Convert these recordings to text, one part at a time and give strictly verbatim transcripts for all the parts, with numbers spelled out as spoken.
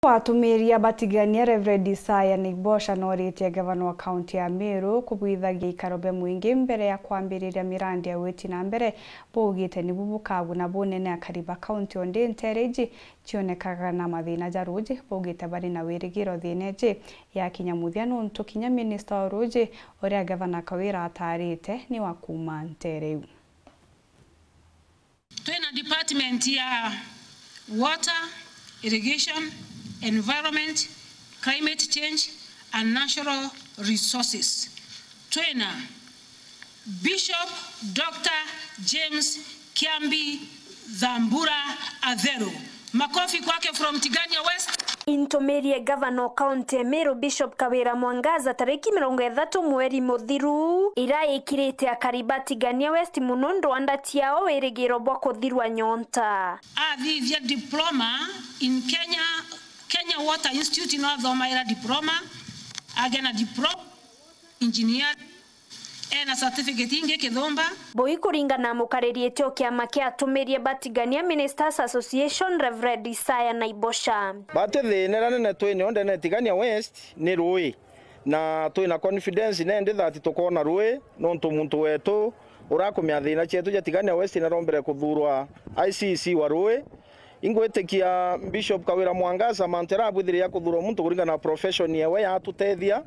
Atumiria batigania Reverend Isaya Naibosha noritie gavana wa kaunti ya Meru kubwithagia ikaro bia mwingi mbere ya kwambiriria mirandi ya witi na mbere. Baugite nibu bukaguna bunene akari ba kaunti o ndi nteere iji cionekaga na mathina ja ruuji. Baugite bari na wirigiro thiina iji yakinya muthia, nontu kinya minista wa ruuji, uria gavana Kawira ataarite, ni wa kuuma nteere iu. Twina department ya water, irrigation, environment, climate change and natural resources. Twina Bishop Doctor James Kiambi Thambura Atheru. Makofi kwake from Tigania West. Intumirie gavana o kaunti ya Meru Bishop Kawira Mwangaza tariki mirongo ithatu mweri muthiru, ira ikirite akari ba Tigania West mono ndwanda ciao wirigiro bwa kuthirwa nyonta. Athithia diploma in Kenya, Kenya Water Institute, no athomaira diploma, agena diploma engineering, ena certificate ingi kithumba. Bui kuringana na mukariri o kiama kia atumirie ba Tigania Ministers Association, Reverend Isaya Naibosha. Batwi thina iria nene twinio ndene Tigania West ni rui, na twina confidence nende that tukoona rui, nontu muntu wetu urakumia thina cietu ja Tigania West narombere kuthuurwa I C C wa rui. Ingwitikia Bishop Kawira Mwangaza mantu jaria abwithirie ja kuthuurwa muntu kuringana na profession yewe yatutethia,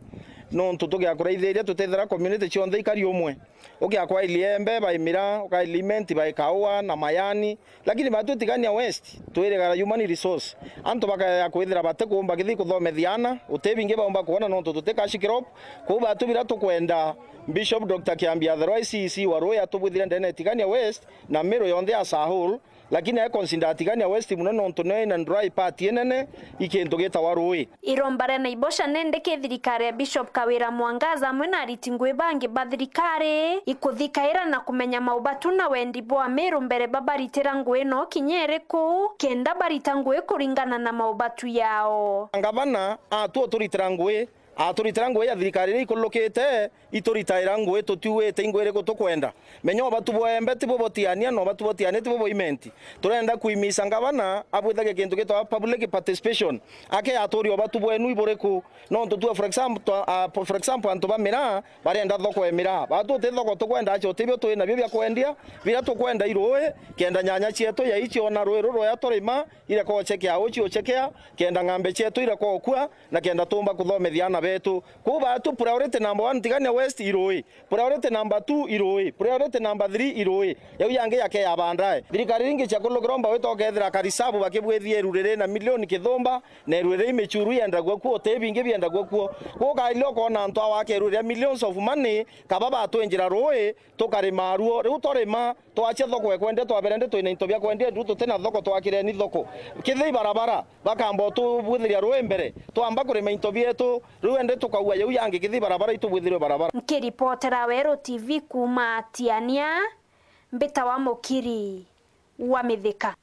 nontu tugiakuraithiria tutethira community cionthe ikari umwe. Ugiakwa Iliembe by miraa, uka Ilimenti by kaua na mayani, lakini batwi Tigania West twirigara human resource. Antu bakaya kwithira batikuumba kithi kuthomethia ana, uti bingi baumba kwona nontu tuti cash crop. Kwou batwi biria tukwenda Bishop Doctor Kiambi Atherwa I C C wa rui atubwithire ndene Tigania West na Meru yonthe as a whole, lakini e consider Tigania West mono nontu nio ina dry part inene i kintu gitawa rui. Iromba ria Naibosha nendeke thirikari ya Bishop Kawira Mwangaza amwe na ariti ngui bangi ba thirikari ikuthikaira na kumenya maubatu na wendi bwa Meru mbere babaritira ngui no kinya iriku, kenda barita ngui kuringana na maubatu yao. Ngavana atu uturitira ngui, aturitira ngui ya thirikari iria ikurukite, ituritaira ngui tutiuite ingui iriku tukwenda. Menya ubatu bwa Embe tibu butiania, na ubatu butiania tibu bwa Imenti. Turenda kuimisa ngavana abwithagia kintu gitagwa public participation. Ake aturia ubatu bwenu iburiku? Nontu tue, for example, twa-, ah, for example, antu ba miraa barenda thoko ya miraa. Batu uti thoko tukwenda, acio utibio twi nabio bia kwendia. Biria tukwenda i rui, kenda nyanya cietu ya icio na rui ruru rwea turima, ireka uchekea uci uchekea, kenda ng'ambe cietu ireka ukua, na kenda tuumba kuthomethia ana betu. Kwou batu priority number one Tigania West i rui. Priority number two i rui. Priority number three i rui. Yau yangi yake ya baadaye. Thirikari ringi cia kulukiromba wita ukethira karisabu bakibwithia iru riri na milioni kithumba, na iru riri i michuru yendagua kuo, uti bingi biendagua kuo. Kwou ukaile ukona antu awa ake iru ria millions of money, kaba batwinjira rui, tukarima ruo. Riu twarima, twacia thoko ekwendia, twabere ndi twina into bia kwendia, riu tutina thoko, twakireni thoko. Kithii barabara, bakamba utubwithiria rui mbere, twamba kurima into bietu, riu endi tukaua yau yangi kithii barabara, itubwithirwe barabara. Nkiripotera Weru T V kuuma Tiania, mbitawa Mukiri wa Mithika.